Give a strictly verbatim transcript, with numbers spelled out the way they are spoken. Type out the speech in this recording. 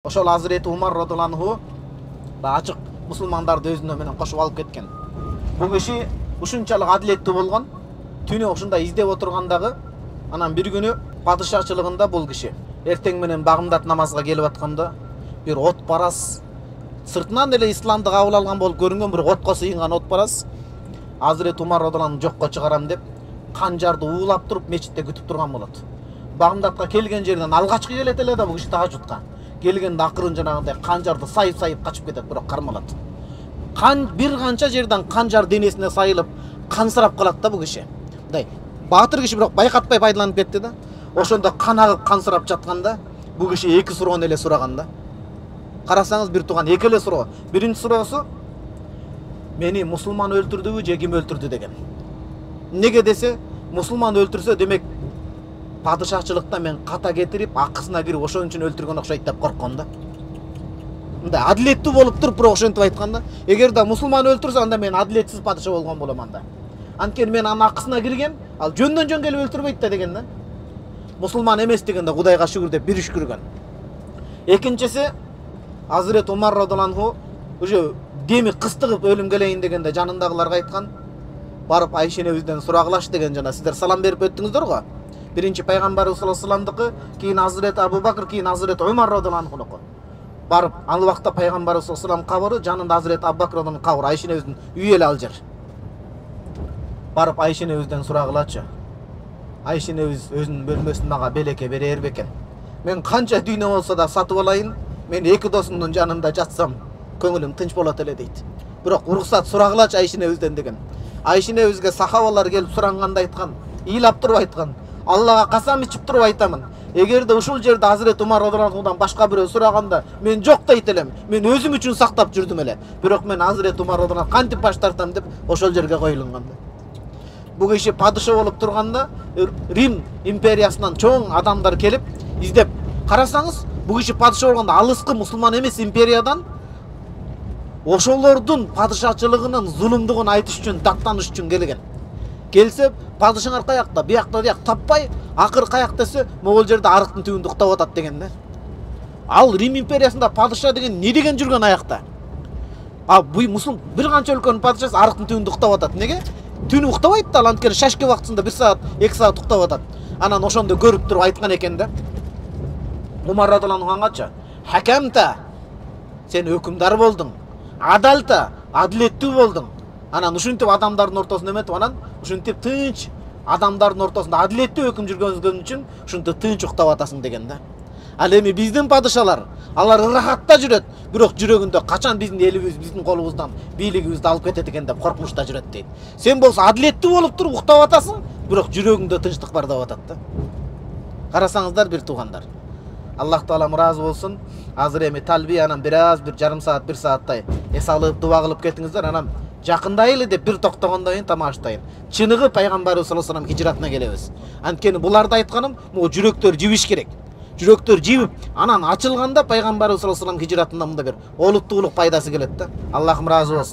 Ошол Азирети Умар радыйаллаху ачык мусулмандарды өзүнө менен кошуп алып кеткен. Бул киши ушунчалык адилеттүү болгон. Түнү ушундай издеп отургандагы анан бир күнү падышачылыгында бул киши эртең менен багымдат намазга келип атканда бир от парас сыртынан эле исламды кабыл алган болуп көрүнгөн бир отко сыйынган от парас Азирети Умар радыйаллаху жокко чыгарам деп канжарды уулап туруп мечитте күтүп турган болот. Багымдатка келген жерден алгачкы келет эле да бул киши тажудка. Келгенде акырын жанагындай канжарды сайып-сайып качып кетет, бирок кармалат. Кан бир канча жерден канжар денесине сайылып, кансырап калат да бул киши. Мындай баатыр киши бирок байкатпай пайдаланып кетти да. Ошондо кан агып кансырап жатканда бул киши эки суроону эле сураган да. Карасаңыз бир тууган эки эле суроо. Биринчи суроосу мени мусулман өлтүрдүбү же ким өлтүрдү деген. Неге десе, мусулман өлтүрсө демек падышачылыкта мен ката кетирип, акысына кирип ошон үчүн өлтүргөн окшойт деп корккон да. Мындай адилеттүү болуп туруп, бирок ошентип айткан да. Эгер да мусулман өлтүрсө, анда мен адилетсиз падыша болгон болом анда. Анткени мен анын акысына кирген, ал жөндөн жөн келип өлтүрбөйт да деген да. Мусулман эмес дегенде Кудайга шүгүр деп бир үшкүргөн. Экинчиси Азирети Умар радыйаллаху уже деми кыстыгып өлүм келейин дегенде жанындагыларга айткан, барып Айшенебизден сурагылашы деген, жана сиздер салам берип өттүңүздөр го. Биринчи пайгамбарыбыз саллаллаху алейхи вассаламдыкы, кийин Азирети Абу Бакыр, кийин Азирети Умар радыйаллаху. Барып, ал убакта пайгамбарыбыз саллаллаху алейхи вассалам кабыры, жанында Азирети Абу Бакыр радыйаллаху кабыры, Айшенебиздин үйү эле ал жер. Барып Айшенебизден сурагылачы. Айшенебиз өзүнүн бөлмөсүн мага белекке берер бекен. Мен канча дүйнө болсо да сатып алайын, мен эки досумдун жанында жатсам, көңүлүм тынч болот эле дейт. Бирок уруксат сурагылачы Айшенебизден деген. Айшенебизге сахабалар келип суранганда айткан, ыйлап туруп айткан. Аллага касам ичип туруп айтамын. Эгерде ушул жерде Азирети Умар радыйаллахудан башка бирөө сураганда, мен жок дейт элем. Мен өзүм үчүн сактап жүрдүм эле. Бирок мен Азирети Умар радыйаллаху кантип баш тартам деп ошол жерге коюлган. Бул киши падыша болуп турганда Рим империясынан чоң адамдар келип издеп. Карасаңыз, бул киши падыша болгондо алыскы мусулман эмес империядан ошолордун падышачылыгынын зулумдугун айтыш үчүн, даттаныш үчүн келген. Келсе, падышаңар каякта, биякта дияк таппай, акыр каяк десе, могул жерде арыктын түбүндө уктап атат деген да. Ал Рим империясында падыша деген не деген жүргөн аякта? А бул мусул бир канча өлкөнүн падышасы арыктын түбүндө уктап атат. Неге? Түнү уктабайт да, ал анткени шашке убактысында бир саат, эки саат уктап атат. Анан ошондо көрүп туруп айткан экен да. Умар радыйаллаху ангачы, "Хакамта, сен өкүмдар болдуң. Адалта, адилеттүү болдуң. Анан ушинтип адамдардын ортосунда эметип, анан ушинтип тынч адамдардын ортосунда адилеттүү өкүм жүргөнүзгөн үчүн ушинтип тынч уктап атасың" деген да. Ал эми биздин падышалар, алар ырахатта жүрөт, бирок жүрөгүндө качан биздин элибиз, биздин колубуздан бийлигибизди алып кетет экен деп коркунучта жүрөт дейт. Сен болсо адилеттүү болуп туруп уктап атасың, бирок жүрөгүңдө тынчтык бар деп атат да. Карасаңыздар бир туугандар. Аллах Таалам ыраазы болсун. Азыр эми талби анан бир аз бир жарым саат, бир сааттай эс алып дуба кылып кетиңиздер, анан жакындайлы деп бир токтогондон кийин тамаштайын. Чыныгы пайгамбарыбыз саллаллаху алейхи вассалам хижратына келебиз. Анткени буларда айтканым, могу жүрөктөр жибиш керек. Жүрөктөр жибип, анан ачылганда пайгамбарыбыз саллаллаху алейхи вассалам хижратында мында бир олуттуулук пайдасы келет да. Аллахым ыраазы болсун.